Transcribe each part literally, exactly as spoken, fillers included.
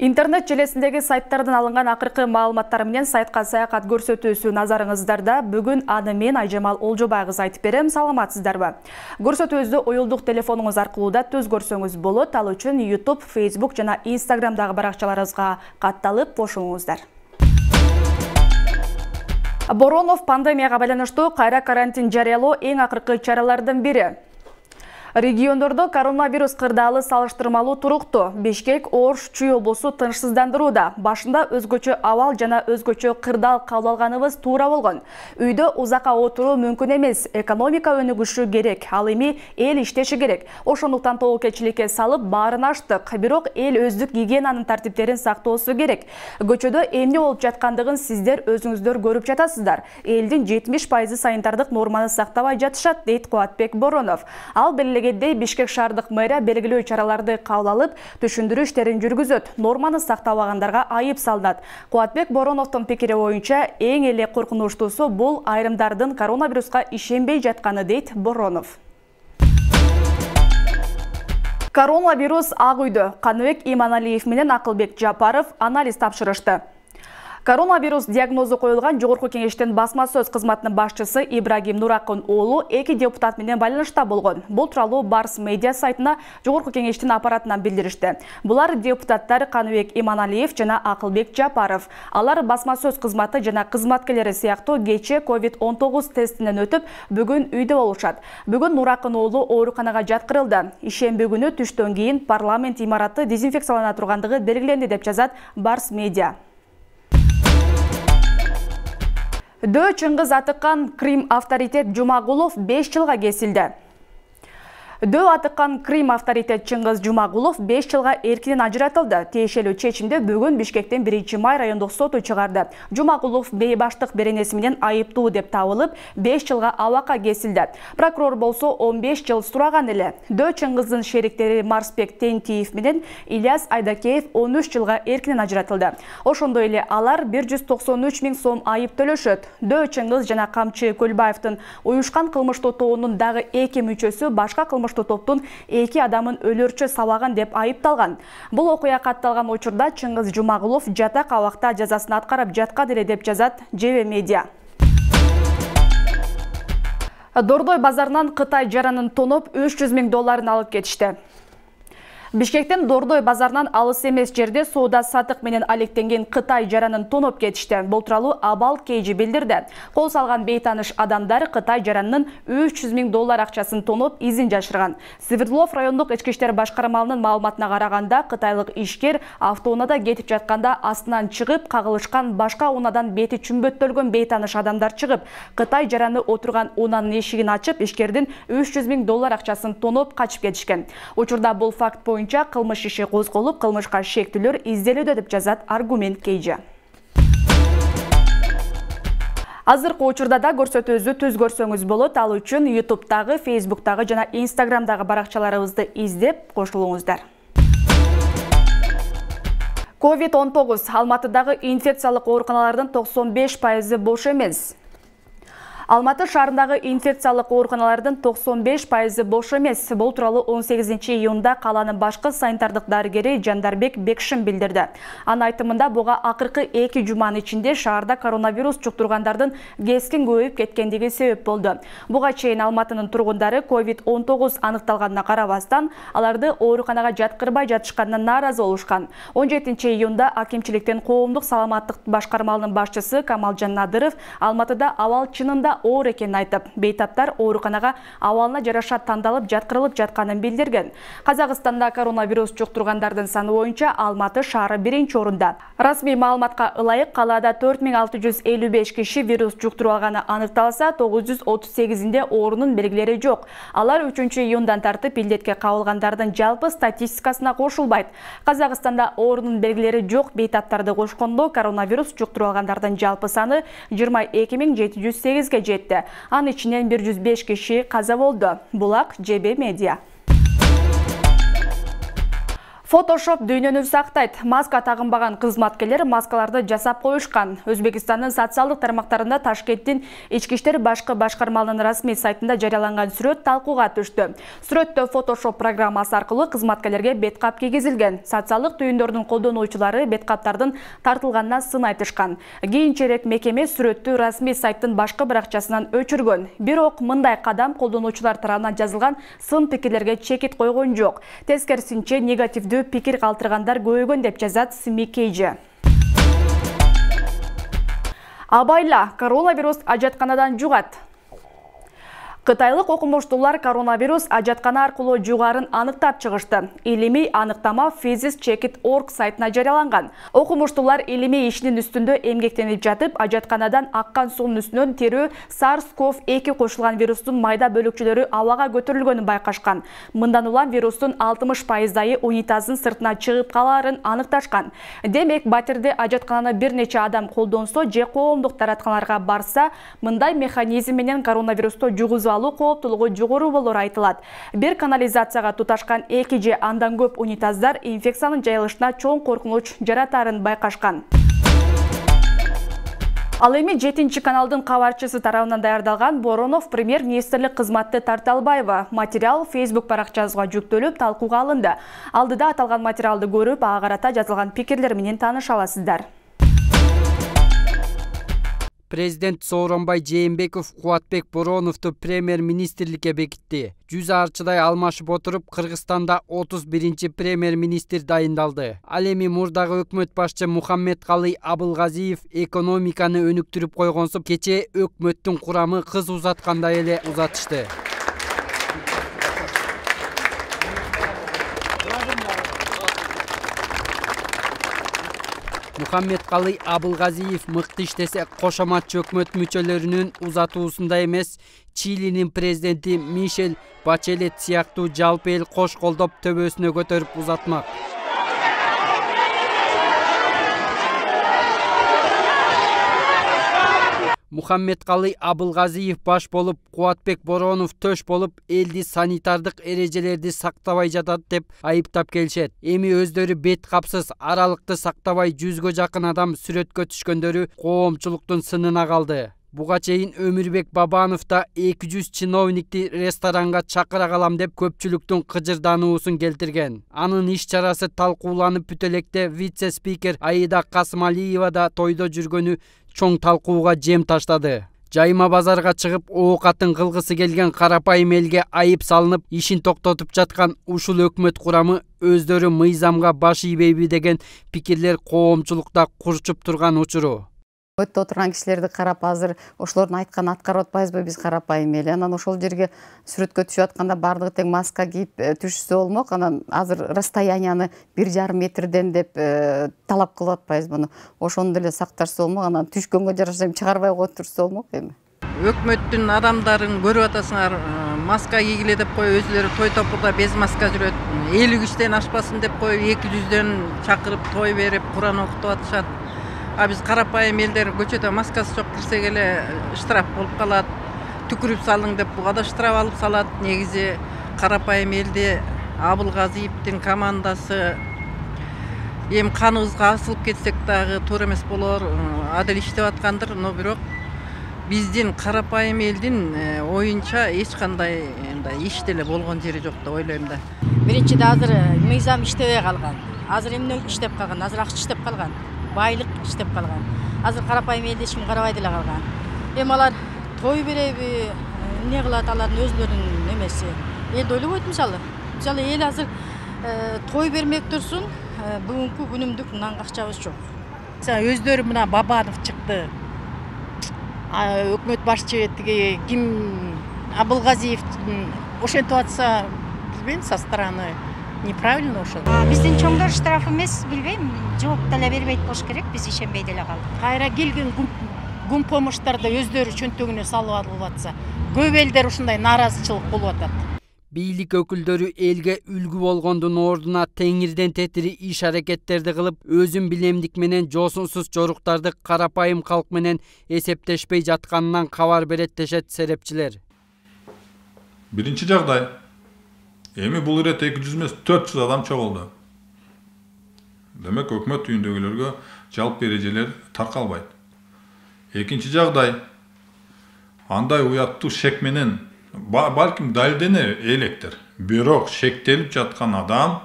Интернет желесиндеги сайттардан алынган акыркы маалыматтар менен сайтка саякат көрсөтүүсү назарыңыздарда. Бүгүн аны мен Айжамал Олжобай кызы айтып берем. Саламатсыздарбы? Көрсөтүүбүздү оюлдук телефонуңуз аркылуу да түз көрсөңүз болот. Ал үчүн YouTube, Facebook жана Instagramдагы баракчаларыбызга катталып кошулуңуздар. Боронов пандемияга байланыштуу кайра карантин жарыялоо эң акыркы чаралардын бири. Региондордо коронавирус кырдаалы салыштырмалуу туруктуу. Бишкек, Ош, Чүй облусу тынчсыздандырууда. Башында өзгөчө абал жана өзгөчө кырдаал кабыл алганыбыз туура болгон. Үйдө узакка отуруу мүмкүн эмес. Экономика өнүгүшү керек. Ал эми эл иштеши керек. Ошондуктан тобокелчиликке салып баарын аштык. Бирок эл өздүк гигиенанын тартиптерин сактоосу керек. Көчөдө эмне болуп жаткандыгын сиздер өзүңүздөр көрүп жатасыздар. Элдин жетимиш пайызы санитардык норманы сактабай жатышат, дейт Кубатбек Боронов. Ал белгилегендей Бишкек шаардык мэрия белгилүү чараларды кабыл алып, түшүндүрүү иштерин жүргүзөт. Норманы сактабагандарга айып салынат. Кубатбек Бороновдун пикири боюнча, эң эле коркунучтуусу бул айрымдардын коронавируска ишенбей жатканы, дейт Боронов. Коронавирус Ак үйдө. Каныбек Иманалиев менен Акылбек Жапаров анализ тапшырышты. Коронавирус диагнозу коюлган Жогорку кеңештин басма сөз кызматынын башчысы Ибрагим Нуракын уулу эки депутат менен байланышта болгон. Бул тууралуу Барс медиа сайтына Жогорку кеңештин аппаратынан билдиришти. Булар депутаттар Каныбек Иманалиев жана Акылбек Жапаров. Алар басма сөз кызматы жана кызматкерлери сыяктуу кече ковид он тогуз тестинен өтүп, бүгүн үйдө болушат. Бүгүн Нуракын уулу ооруканага жаткырылды. Ишемби күнү түштөн кийин парламент имараты дезинфекциялана тургандыгы белгиленди, деп жазат Барс медиа. Дөө Чыңгыз атыккан Крим авторитет Жумагулов беш жылга кесилди. Дөө атыккан Крим авторитет Чыңгыз Жумагулов беш жылга эркинен ажыратылды. Тиешелүү чечимди бүгүн Бишкектин биринчи май райондук соту чыгарды. Жумагулов бейбаштык беренеси менен айыптуу деп табылып, беш жылга абакка кесилди. Прокурор болсо он беш жыл сураган эле. Дөө Чыңгыздын шериктери Марсбек Тентиев менен Ильяс Айдакеев он үч жылга эркинен ажыратылды. Ошондой эле алар бир жүз токсон үч миң сом айып төлөшөт. Дөө Чыңгыз жана Камчы Көлбаевдин уюшкан кылмыштуу тобунун дагы эки мүчөсү башка кылмыш топтун эки адамын өлөрчө сабаган деп айыпталган. Бул окуя катталган учурда Чыңгыз Жумагулов жатак абакта жазасын аткарып жаткан эле, деп жазат Жебе медиа. Дордой базарынан Кытай жаранын тоноп үч жүз миң долларын алып кетишти. Бишкектин Дордой базарынан алыс эмес жерде соода сатык менен алектенген Кытай жаранын тоноп кетишти. Бул тууралуу Абал Кейжи билдирди. Кол салган бейтаныш адамдар Кытай жаранынын үч жүз миң доллар акчасын тоноп изин жашырган. Свердлов райондук ички иштер башкармалынын маалыматына караганда, кытайлык ишкер автоунаада кетип жатканда астынан чыгып кагылышкан башка унадан бети чүмбөттөлгөн бейтаныш адамдар чыгып, Кытай жараны отурган унанын эшигин ачып, ишкердин үч жүз миң доллар акчасын тоноп качып кетишкен. Учурда бул факт боюнча кылмыш иши козголуп, кылмышка шектүүлөр изделүүдө, деп жазат Аргумент Кейжи. Азыркы учурда да көрсөтүүбүздү түз көрсөңүз болот. Ал үчүн YouTube'дагы, Facebook'тагы жана Instagram'дагы баракчаларыбызды издеп кошулуңуздар. ковид он тогуз Алматыдагы инфекциялык ооруканалардын токсон беш пайызы бош эмес. Алматы шаарындагы инфекциялык ооруканалардын токсон беш пайызы бош эмес. Бул тууралуу он сегизинчи июнда каланын башкы санитардык дарыгери Жандарбек Бекшин билдирди. Анын айтымында, буга акыркы эки жуманын ичинде шаарда коронавирус жуктургандардын кескин көбөйүп кеткендиги себеп болду. Буга чейин Алматынын тургундары ковид он тогуз аныкталганына карабастан, аларды ооруканага жаткырбай жатышканына нааразы болушкан. он жетинчи июнда акимчиликтин коомдук саламаттык башкармалынын башчысы Камалжан Надыров Алматыда абал чынында оор экенин айтып, бейтаптар ооруканага абалына жараша тандалып жаткырылып жатканын билдирген. Казакстанда коронавирус жуктургандардын саны боюнча Алматы шаары биринчи орунда. Расмий маалыматка ылайык калаада төрт миң алты жүз элүү беш киши вирус жуктуруп алганы аныкталса, тогуз жүз отуз сегизинде оорунун белгилери жок. Алар үчүнчү июндан тартып илдетке кабылгандардын жалпы статистикасына кошулбайт. Казакстанда оорунун белгилери жок бейтаптарды кошкондо коронавирус жуктуруп алгандардын жалпы саны жыйырма эки миң жети жүз сегизге жетти. Анын ичинен бир жүз беш киши каза болду. Булак Жебе медиа. Photoshop дүйнөнү сактайт. Маска тагынбаган кызматкерлер маскаларды жасап коюшкан. Өзбекстандын социалдык тармактарында Ташкенттин ички иштер башкы башкармалынын расмий сайтында жарыяланган сүрөт талкууга түштү. Сүрөттө Photoshop программасы аркылуу кызматкерлерге беткап кийгизилген. Социалдык түйүндөрдүн колдонуучулары беткаптардын тартылганына сын айтышкан. Кийинчерээк мекеме сүрөттү расмий сайттын башкы бир акчасынан өчүргөн. Бирок мындай кадам колдонуучулар тарабынан жазылган сын пикирлерге чекит койгон жок. Тескерисинче негативдүү пикир калтыргандар көбөйгөн деп жазат Смикейже. Абайла, коронавирус ажатканадан жугат. Кытайлык окумуштуулар коронавирус ажаткана аркылуу жугарын аныктап чыгышты. Илимий аныктама Physis Check It точка org сайтына жарыяланган. Окумуштуулар илимий ишинин үстүндө эмгектенип жатып, ажатканадан аккан суунун үстүнөн терүү SARS CoV two кошулган вирустун майда бөлүкчөлөрү абага көтөрүлгөнүн байкашкан. Мындан улам вирустун алтымыш пайыздайы унитаздын сыртына чыгып калаарын аныкташкан. Демек, батирде ажаткананы бир нече адам колдонсо же коомдук таратканаларга барса, мындай механизм менен коронавирусту жугузуу алуу кооптулугу жогору болору айтылат. Бир канализацияга туташкан эки же андан көп унитаздар инфекциянын жайылышына чоң коркунуч жаратарын байкашкан. Ал эми жетинчи каналдын кабарчысы тарабынан даярдалган Боронов премьер-министрлик кызматты тарта албайбы. Материал Facebook баракчасына жүктөлүп талкууга алынды. Алдыда аталган материалды көрүп, ага карата жазылган пикирлер менен тааныша аласыздар. Президент Сооронбай Жээнбеков Кубатбек Бороновду премьер-министрликке бекитти. жүз арчыдай алмашып отуруп, Кыргызстанда отуз биринчи премьер-министр дайындалды. Ал эми мурдагы өкмөт башчы Мухаммедкалый Абылгазиев экономиканы өнүктүрүп койгонсу, кече өкмөттүн курамы кыз узаткандай эле узатышты. Мухаммедкалый Абылгазиев мыкты иштесе, кошоматчы өкмөт мүчөлөрүнүн узатуусунда эмес, Чилинин президенти Мишель Бачелет сыяктуу жалпы эл кош колдоп төбөсүнө көтөрүп узатмак. Мухаммедкалый Абылгазиев баш болуп, Кубатбек Боронов төш болуп, элди санитардык эрежелерди сактабай жатат деп айыптап келишет. Эми өздөрү бет капсыз, аралыкты сактабай жүзгө жакын адам сүрөткө түшкөндөрү коомчулуктун сынына калды. Буга чейин Өмүрбек Бабанов да эки жүз чиновникти ресторанга чакыра калам деп көпчүлүктүн кыжырдануусун келтирген. Анын иш чарасы талкууланып бүтө электе вице-спикер Аида Касымалиева да тойдо жүргөнү чоң талкууга жем таштады. Жайма базарга чыгып, оокатын кылгысы келген карапайым элге айып салынып, ишин токтотуп жаткан ушул өкмөт курамы өздөрү мыйзамга баш ийбейби деген пикирлер коомчулукта курчуп турган учуру. Өттө отурган кишилерди карап, азыр ошолордун айтканын аткарып атпайбызбы биз карапайым эл. Анан ошол жерге сүрөткө түшүп атканда бардыгы тең маска кийип түшүшсө болмок. Анан азыр расстоянияны бир жарым метрден деп талап кылып атпайбызбы муну. Ошону деле сакташса болмок. Анан түшкөнгө жараша чыгарбай коюп турса болмок эми. Өкмөттүн адамдарын көрүп атасыңар, маска кийгиле деп коюп, өзүлөрү той топурда без маска жүрөт. элүү кишиден ашпасын деп коюп, эки жүздөн чакырып той берип, Куран окутуп атышат. А биз карапайым элдер көчөдө маскасы жок кирсек эле штраф болуп калат. Түкүрүп салың деп буга да штраф алып салат. Негизи карапайым элди Абылгазиевдин командасы эми каныбызга асылып кетсек дагы туура эмес болор. Адил иштеп аткандыр, но бирок биздин карапайым элдин оюнча эч кандай иш деле болгон жери жок деп ойлойм да. Биринчиде азыр мыйзам иштебей калган. Азыр эмне иштеп калган? Азыр акча иштеп калган. Байлык иштеп калган. Азыр карапайым элди эч ким карабай деле калган. Эми алар той береби, эмне кылат, алардын өзлөрүнүн эмеси. Элди ойлобойт мисалы. Мисалы эл азыр той бермек турсун, бүгүнкү күнүмдүк нанга акчабыз жок. Өздөрү мына Бабанов чыкты. Өкмөт башчы тиги ким Абылгазиев ошентип атса, билбейм, со стороны неправильно ошол. Биздин чоңдор штраф эмес, билбейм, жооп деле бербейт болуш керек, биз ишенбей деле калдык. Кайра келген гум помощтарды өздөрү чөнтөгүнө салып алып атса, көп элдер ушундай нааразычылык болуп атат. Бийлик өкүлдөрү элге үлгү болгондун ордуна теңирден тетири иш аракеттерди кылып, өзүн билемдик менен жосунсуз жоруктарды карапайым калк менен эсептешпей жатканынан кабар берет дешет серепчилер. Биринчи жагдай, эми бул ирет эки жүз эмес төрт жүз адам чогулду. демек өкмөт үйүндөгүлөргө жалпы эрежелер таркалбайт. Экинчи жагдай, андай уяттуу шек менен балким далилдене электир. Бирок шектелип жаткан адам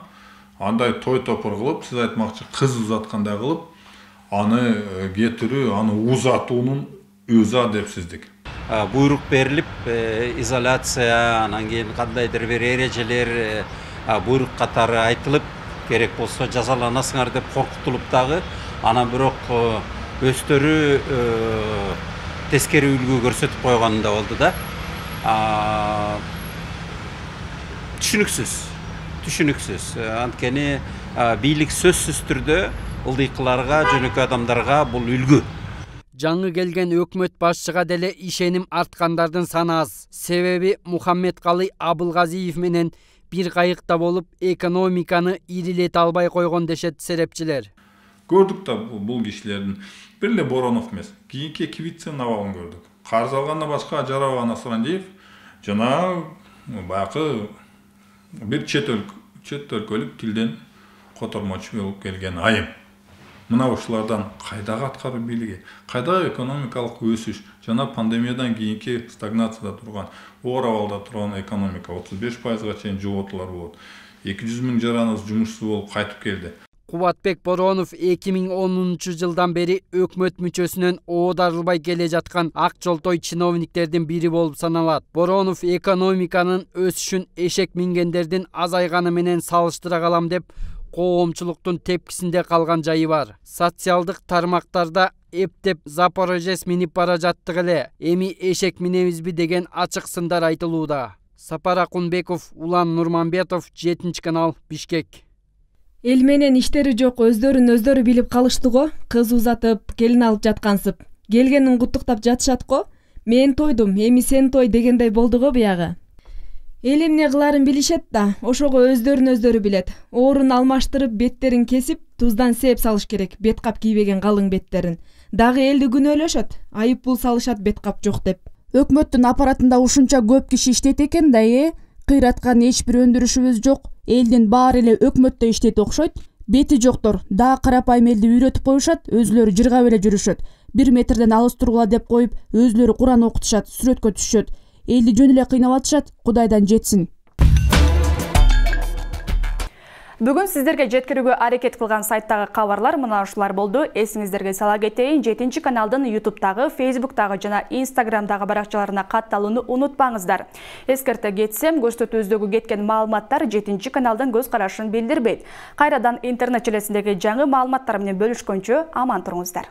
андай той топур кылып, сиз айтмакчы кыз узаткандай кылып, аны кетирүү, аны узатуунун өзү адепсиздик. Буйрук берилип, изоляция, анан кийин кандайдыр бир эрежелер буйрук катары айтылып, керек болсо жазаланасыңар деп коркутулуп дагы, анан бирок өздөрү тескери үлгү көрсөтүп койгон да болду да. Түшүнүксүз, түшүнүксүз. Анткени бийлик сөзсүз түрдө ылдыйкыларга, жөнөкөй адамдарга бул үлгү. Жаңы келген өкмөт башчыга деле ишеним арткандардын саны аз. Себеби Мухаммедкалый Абылгазиев менен бир кайыкта болуп, экономиканы ирилете албай койгон дешет серепчилер. Көрдүк да бул кишилердин бир эле Боронов эмес, кийинки эки вице абалын көрдүк. Карыз алгандан башка Ажарова Насрандиев жана баягы бир чет өлкөлүк тилден котормочу болуп келген айым. Мына ушулардан кайдагы аткаруу бийлиги, кайдагы экономикалык өсүш жана пандемиядан кийинки стагнацияда турган, оор абалда турган экономика отуз беш пайызга чейин жоготуулар болот. эки жүз миң жараныбыз жумушсуз болуп кайтып келди. Кубатбек Боронов эки миң онунчу жылдан бери өкмөт мүчөсүнөн оодарылбай келе жаткан ак жолтой чиновниктердин бири болуп саналат. Боронов экономиканын өсүшүн эшек мингендердин азайганы менен салыштыра калам деп коомчулуктун тепкисинде калган жайы бар. Социалдык тармактарда эптеп Запорожец минип бара жаттык эле, эми эшек минебизби деген ачык сындар айтылууда. Сапар Акунбеков, Улан Нурманбетов, жетинчи канал, Бишкек. Эл менен иштери жок өздөрүн өздөрү билип калышты го, кыз узатып, келин алып жаткансып. Келгенин куттуктап жатышат го. Мен тойдум, эми сен той дегендей болду го буягы. Эл эмне кыларын билишет да, ошого өздөрүн өздөрү билет. Оорун алмаштырып, беттерин кесип, туздан сээп салыш керек, бет кап кийбеген калың беттерин. Дагы элди күнөөлөшөт, айып бул салышат бет кап жок деп. Өкмөттүн аппаратында ушунча көп киши иштейт экен да, э? Кыйраткан эч бир өндүрүшүбүз жок. Элдин баары эле өкмөттө иштейт окшойт. Бети жоктор дагы карапайым элди үйрөтүп коюшат, өзүлөрү жыргап эле жүрүшөт. Бир метрден алыс тургула деп коюп, өзүлөрү Куран окутушат, сүрөткө түшүшөт. Элди жөн эле кыйнап атышат, Кудайдан жетсин. Бүгүн сиздерге жеткирүүгө аракет кылган сайттагы кабарлар мына ушулар болду. Эсиңиздерге сала кетейин, жетинчи каналдын ютубтагы, фейсбуктагы жана инстаграмдагы баракчаларына катталууну унутпаңыздар. Эскерте кетсем, көрсөтүүбүздөгү кеткен маалыматтар жетинчи каналдын көз карашын билдирбейт. Кайрадан интернет желесиндеги жаңы маалыматтар менен бөлүшкөнчө аман туруңуздар.